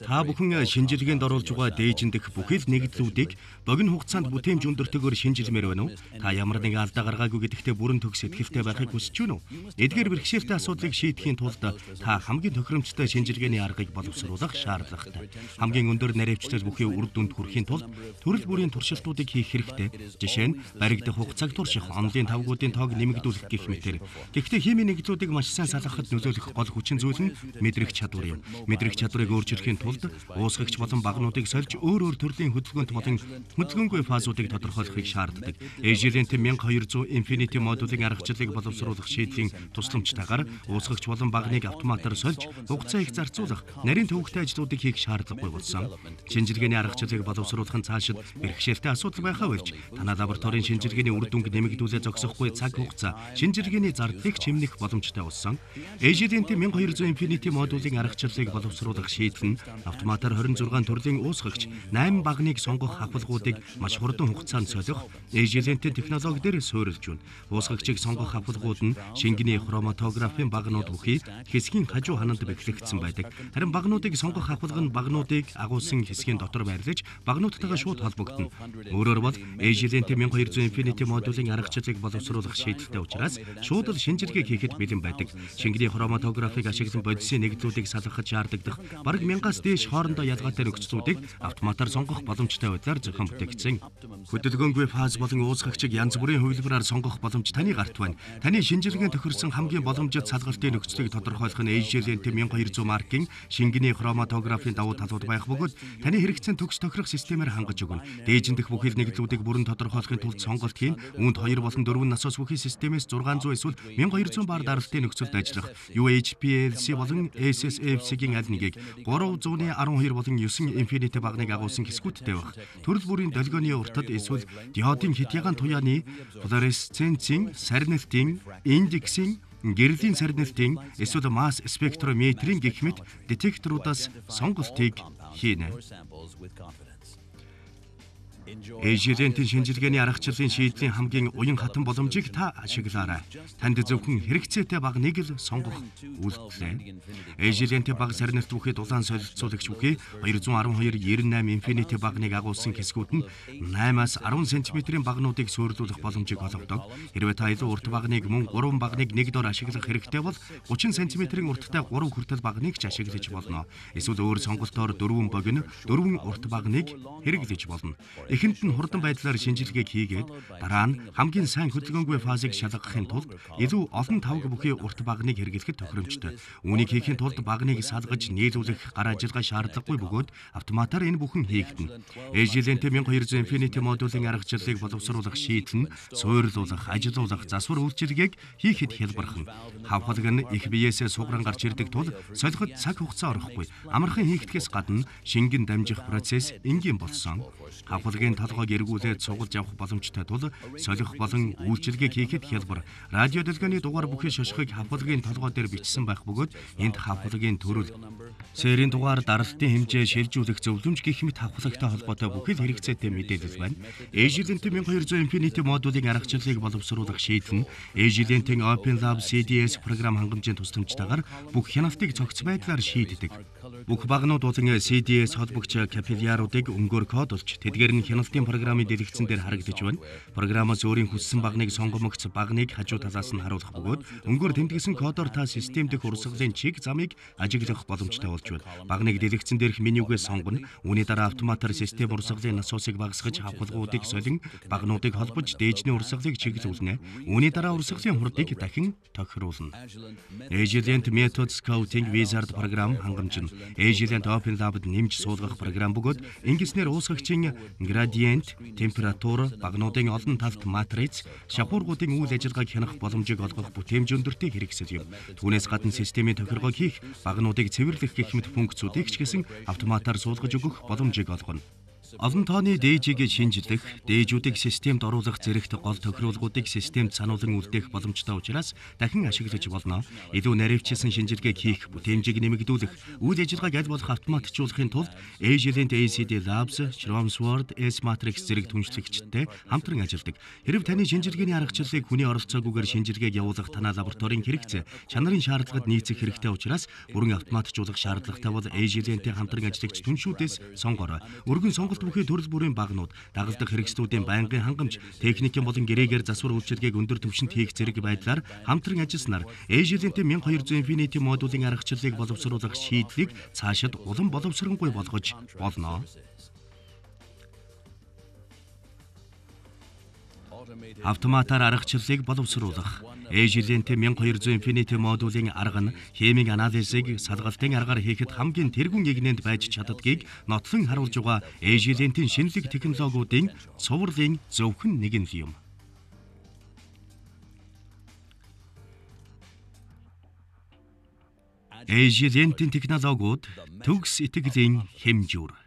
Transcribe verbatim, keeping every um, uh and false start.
Та бүхэн шинжилгээнд оруулж байгаа дээжиндэх бүхэл нэгдлүүдийг богино хугацаанд бүтээмж өндөртөгөөр шинжилмээр байна уу? Та ямар нэгэн алдаа гаргаагүй гэдэгтээ бүрэн төгс сэтгэлтэй байхыг хүсэж байна уу? Эдгээр бэрхшээлтэй асуудлыг шийдэхийн тулд та хамгийн тохиромжтой шинжилгээний аргыг боловсруулах шаардлагатай. Хамгийн өндөр наривчлал бүхий үр дүнд хүрэхийн тулд төрөл бүрийн туршилтуудыг хийх хэрэгтэй. Жишээ нь баригдах хугацааг турших, онлын тавгуудын тоог нэмэгдүүлэх гэх мэтэр. Гэхдээ химийн нэгдлүүдийг маш сайн салгахад нөлөөлөх гол хүчин зүйл нь мэдрэх чадвар юм. Мэдрэх чадварыг өөрчилөхийн тулд уусгагч болон багнуудыг сольж өөр өөр төрлийн хөдөлгөөнт болон хөдөлгөөнгүй фазуудыг тодорхойлохыг шаарддаг. Agilent мянга хоёр зуун Infinity модулын аргачлалыг боловсруулах шийдлийн тусламжтайгаар уусгагч болон багныг автоматар сольж хугацаа их зарцуулах, нарийн төвөгтэй ажлуудыг хийх шаардлагагүй болсон. Шинжилгээний аргачлалыг боловсруулах нь цаашид бэрхшээлтэй асуудал байхаа болж, танай лабораторийн шинжилгээний үр дүнг нэмэгдүүлээ зогсохгүй цаг хугацаа, шинжилгээний зардлыг чимнэх боломжтой болсон. Agilent мянга хоёр зуун Infinity модулын аргачлалыг боловсруулах шийдэл нь автоматар хорин зургаан төрлийн уусгагч найман багныг сонгох хавхалгуудыг маш хурдан хугацаанд солих Agilent-ийн технологи дээр суурилж байна. Уусгагчийг сонгох хавхалгууд нь шингэний хроматографийн багнууд бүхий хэсгийн хажуу хананд бэхлэгдсэн байдаг. Харин багнуудыг сонгох хавхалга нь багнуудыг агуулсан хэсгийн дотор байрлаж багнуудтайгаа шууд холбогдно. Өөрөөр бол Agilent мянга хоёр зуун Infinity модулын аргачлалыг боловсруулах шийдэлтэй учраас шууд л шинжилгээ хийхэд бэлэн байдаг. Шингэний хроматографыг ашиглан бодисын нэгдлүүдийг салгахад шаардлагадах бараг мянгаас дээш хоорондоо ялгаатай нөхцлүүдийг автоматар сонгох боломжтой байдлаар зохион бүтээгдсэн. Хөдөлгөөнгүй фаз болон уусгагчийг янз бүрийн хувилбараар сонгох боломж таны гарт байна. Таны шинжилгээнд тохирсон хамгийн боломжит салгалтын нөхцөлийг тодорхойлох нь Agilent мянга хоёр зуун маркийн шингэний хроматографийн давуу талууд байх бөгөөд таны хэрэгцээнд төгс тохирох системээр хангаж өгнө. Дээжиндэх бүхэл нэгдлүүдийг бүрэн тодорхойлохын тулд сонголт хийн, үүнд хоёр болон дөрвөн насос бүхий системээс зургаан зуун эсвэл мянга хоёр зуун бар даралтын нөхцөлд ажиллах ю эйч пи эл си болон эс эс эф си-гийн аль нэгийг гурван зуун арван хоёр болон девять Infinity багныг агуулсан хэсгүүдтэй байх. Төрөл бүрийн долгионы уртад эсвэл диодын хитягаан туяаны флуоресценцийн, сарнилтын, индексийн, гэрлийн сарнилтын эсвэл масс спектрометрийн гэх мэт детекторуудаас сонголтыг хийнэ. Agilent-ийн шинжилгээний аргачлалын шийдлийн хамгийн уян хатан боломжийг та ашиглаарай. Танд зөвхөн хэрэгцээтэй багныг л сонгох үйлдэлээ. Agilent-ийн баг сарнилт бүхий дулаан солилцуулагч бүхий хоёр зуун арван хоёр девяносто восемь Infinity багныг агуулсан хэсгүүд нь восьмаас арван сантиметрийн багнуудыг суйрлуулах боломжийг олгодог. Хэрвээ та илүү урт багныг мөн гурван багныг нэг дор ашиглах хэрэгтэй бол гучин сантиметрийн урттай гурван хүртэл багныг ч ашиглаж болно. Эсвэл өөр сонголтоор дөрвөн богино, дөрвөн урт багныг хэрэглэж болно. Эхэнд нь хурдан байдлаар шинжилгээг хийгээд дараа нь хамгийн сайн хөдөлгөөнгүй фазыг шалгахын тулд илүү олон тавг бүхий урт багныг хэрэглэхэд тохиромжтой. Үүнийг хийхин тулд багныг салгаж нийлүүлэх гар ажиллагаа шаардлагагүй бөгөөд автоматар энэ бүхэн хийгдэнэ. Agilent мянга хоёр зуун Infinity модулын аргачлалыг боловсруулах шийдэл нь суйрлуулах, ажилуулах, засвар үйлчилгээг хийхэд хялбархан. Хавхалг нь их биеэсээ сугран гарч ирдэг тул солиход цаг хугацаа орохгүй. Амархан хийгдэхээс гадна шингэн дамжих процесс энгийн болсон. Хавхалгийн толгойг эргүүлээд сугалж авах боломжтой тул солих болон үйлчилгээг хийхэд хялбар. Радио долгионы дугаар бүхий шошгыг хавхалгийн толгой дээр бичсэн байх бөгөөд энд хавхалгийн төрөл, сэрийн дугаар, даралтын хэмжээ, шилжүүлэх зөвлөмж гэх мэт хавхлагтай холбоотой бүхэл хэрэгцээтэй мэдээлэл байна. Agilent мянга хоёр зуун Infinity модулын аргачлалыг боловсруулах шийдэл нь Agilent-ийн OpenLab си ди эс програм хангамжийн тусламжтайгаар бүх хяналтыг цогц байдлаар шийддэг. Бүх багнууд болон си ди эс холбогч капилляруудыг өнгөөр кодолж, тэдгээр нь хяналтын програмын дэлгэцэн дээр харагдаж байна. Програмаас өөрийн хүссэн багныг сонгомогц багныг хажуу талаас нь харуулах бөгөөд өнгөөр тэмдэглэсэн кодоор та систем дэх урсгалын чиг замыг ажиглах боломжтой болж байна. Багныг дэлгэцэн дээрх менюгээс сонгоно. Үүний дараа автоматар систем урсгалын насосыг багасгаж хавхалгуудыг солин багнуудыг холбож дээжний урсгалыг чиглүүлнэ. Үүний дараа урсгалын хурдыг дахин тохируулна. Agilent Method Scouting Wizard програм хангамж нь Agilent OpenLab-д нэмж суулгах програм бөгөөд ингэснээр уусгагчийн градиент, температур, багнуудын олон талт матриц, шахуургуудын үйл ажиллагааг хянах боломжийг олгох бүтээмж өндөртэй хэрэгсэл юм. Түүнээс гадна системийн тохиргоог хийх, багнуудыг цэвэрлэх гэх мэт функцүүдийг ч гэсэн автоматар суулгаж өгөх боломжийг олгоно. Олон тооны дээжийг шинжлэх, дээжүүдийг системд оруулах зэрэгт гол тохируулгуудыг системд сануулan үлдээх боломжтой учраас дахин ашиглаж болно. Илүү наривчилсан шинжилгээг хийх, бүтээмжийг нэмэгдүүлэх, үйл ажиллагааг аль болох автоматжуулахын тулд Agilent эй си ди Labs, Chromsword, S-Matrix зэрэг түншлэгчтэй хамтран ажилладаг. Хэрэв таны шинжилгээний аргачлалыг хүний оролцоогүйгээр шинжилгээг явуулах танай лабораторийн хэрэгцээ, чанарын шаардлагад нийцэх хэрэгтэй учраас бүрэн автоматжуулах шаардлагатай бол Agilent-ийн хамтран ажиллагч түншүүдээс сонгоорой. Өргөн сонголт бүхий төрөл бүрийн багнууд, дагалдах хэрэгслүүдийн байнгын хангамж, техникийн болон гэрээгээр засвар үйлчилгээг өндөр түвшинд хийх зэрэг байдлаар хамтран ажилласнаар Agilent-ийн twelve hundred Infinity модулийн аргачлалыг боловсруулах шийдлийг цаашид улам боловсронгүй болгож болно. Автоматар аргачлалыг боловсруулах. Agilent twelve hundred Infinity модулийн арга нь химийн анализыг салгалтын аргаар хийхэд хамгийн тэргүүн игнэнд байж чаддгийг нотлон харуулж байгаа Agilent-ийн шинэлэг технологиудын цувралын зөвхөн нэгэн л юм. Agilent-ийн технологиуд төгс итгэлийн хэмжүүр.